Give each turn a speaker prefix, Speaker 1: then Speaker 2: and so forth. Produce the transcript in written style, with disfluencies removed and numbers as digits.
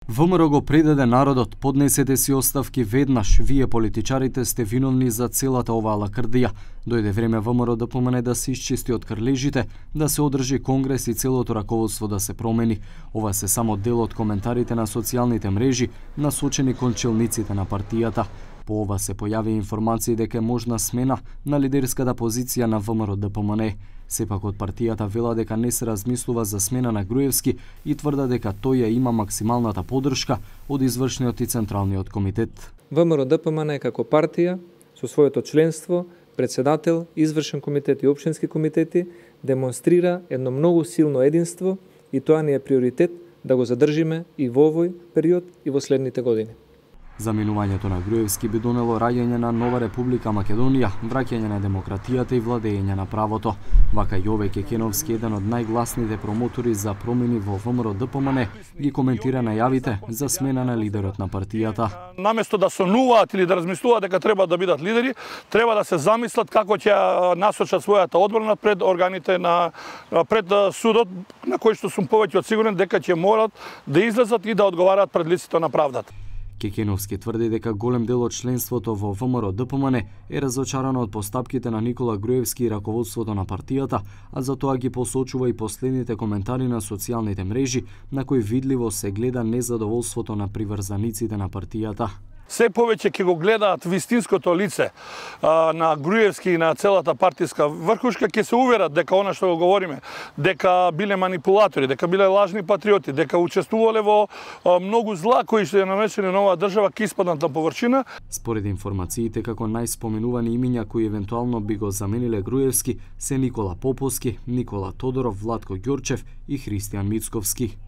Speaker 1: ВМРО го предаде народот, поднесете си оставки веднаш, вие политичарите сте виновни за целата оваа лакрдија. Дојде време ВМРО да помене да се исчисти од крлежите, да се одржи конгрес и целото раководство да се промени. Ова се само дел од коментарите на социјалните мрежи, насочени кон челниците на партијата. По ова се појави информации дека е можна смена на лидерската позиција на ВМРО-ДПМН. Сепак од партијата вела дека не се размислува за смена на Груевски и тврда дека тој ја има максималната поддршка од извршниот и централниот комитет.
Speaker 2: ВМРО-ДПМН како партија со своето членство, председател, извршен комитет и општински комитети демонстрира едно многу силно единство и тоа ни е приоритет да го задржиме и во овој период и во следните години.
Speaker 1: Заминувањето на Груевски би донело раѓање на нова Република Македонија, враќање на демократијата и владење на правото. Вака Јове Кекеновски, еден од најгласните промотори за промени во ВМРО-ДПМН, ги коментира најавите за смена на лидерот на партијата.
Speaker 3: Наместо да сонуваат или да размислуваат дека треба да бидат лидери, треба да се замислат како ќе насочат својата одбрана пред органите пред судот, на кој што сум повеќе од сигурен дека ќе морат да излезат и да одговараат пред лицето на правдата.
Speaker 1: Кекеновски тврди дека голем дел од членството во ВМРО-ДПМН е разочарано од постапките на Никола Груевски и раководството на партијата, а за тоа ги посочува и последните коментари на социјалните мрежи, на кои видливо се гледа незадоволството на приврзаниците на партијата.
Speaker 3: Се повеќе ќе го гледаат вистинското лице на Груевски и на целата партиска врхушка, ќе се уверат дека она што го говориме, дека биле манипулатори, дека биле лажни патриоти, дека учествувале во многу зла кои што ја нанесени на оваа држава, ќе испаднат на површина.
Speaker 1: Според информациите, како најспоменувани имиња кои евентуално би го замениле Груевски се Никола Поповски, Никола Тодоров, Владко Ѓорчев и Христијан Мицковски.